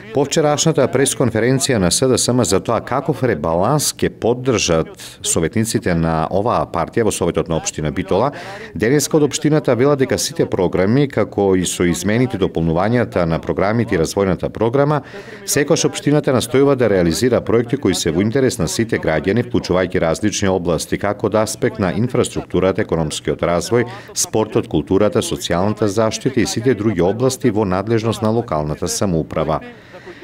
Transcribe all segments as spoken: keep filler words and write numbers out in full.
По вчерашната пресконференција на СДСМ за тоа каков ребаланс ќе поддржат советниците на оваа партија во Советот на општина Битола, денеска од општината вела дека сите програми, како и со измените и дополнувањата на програмите и развојната програма, секогаш општината настојува да реализира проекти кои се во интерес на сите граѓани, вклучувајќи различни области, како од аспект на инфраструктурата, економскиот развој, спортот, културата, социјалната заштита и сите други области во надлежност на локалната самоуправа.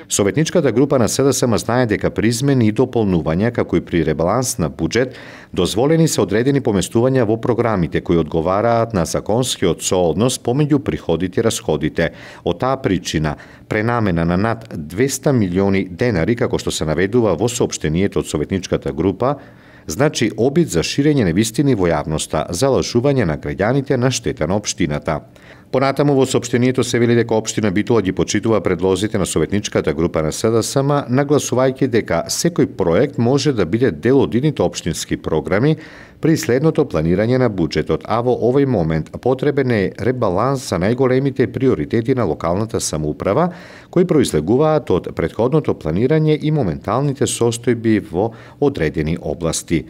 Советничката група на СДСМ знае дека при измени и дополнувања, како и при ребаланс на буџет, дозволени се одредени поместувања во програмите кои одговараат на законскиот сооднос помеѓу приходите и расходите. Од таа причина, пренамена на над двесте милиони денари, како што се наведува во соопштението од советничката група, значи обид за ширење невистини во јавноста, за лажување на граѓаните на штета на општината. Понатаму во соопштението се вели дека општина Битола ги почитува предлозите на советничката група на СДСМ, нагласувајќи дека секој проект може да биде дел од идните општински програми при следното планирање на буџетот, а во овој момент потребен е ребаланс за најголемите приоритети на локалната самоуправа, кои произлегуваат од претходното планирање и моменталните состојби во одредени области.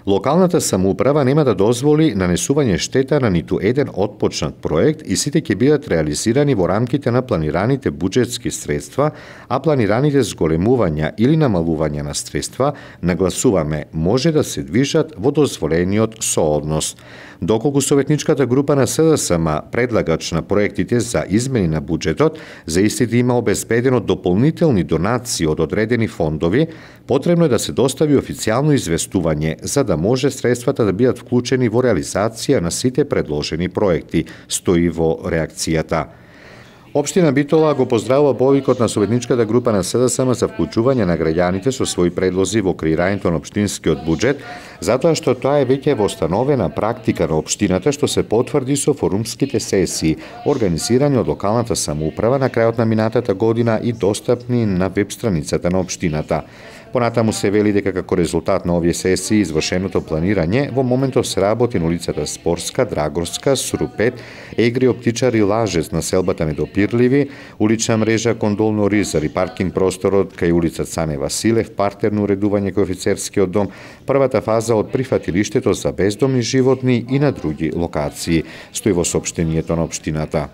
Локалната самоуправа нема да дозволи нанесување штета на ниту еден отпочнат проект и сите ќе бидат реализирани во рамките на планираните буџетски средства, а планираните зголемувања или намалување на средства, нагласуваме, може да се движат во дозволениот сооднос. Доколку советничката група на СДСМ, предлагач на проектите за измени на буџетот, за истите има обезбедено дополнителни донации од одредени фондови, потребно е да се достави официјално известување за да може средствата да бидат вклучени во реализација на сите предложени проекти, стои во реакцијата. Општина Битола го поздравува повикот на советничката група на СДСМ за вклучување на граѓаните со своји предлози во креирањето на општинскиот буџет, затоа што тоа е веќе востановена практика на општината што се потврди со форумските сесии, организирани од локалната самоуправа на крајот на минатата година и достапни на веб страницата на општината. Понатаму се вели дека како резултат на овие сесии извршеното планирање во моментов се работи на улицата Спорска, Драгорска, Срупет, Егри, Оптичар и Лажец на селбата Недопирливи, улична мрежа кон Долно Ризар и паркинг просторот кај улица Цане Василев, партерно уредување кај офицерскиот дом, првата фаза од прифатилиштето за бездомни животни и на други локации, стои во соопштението на општината.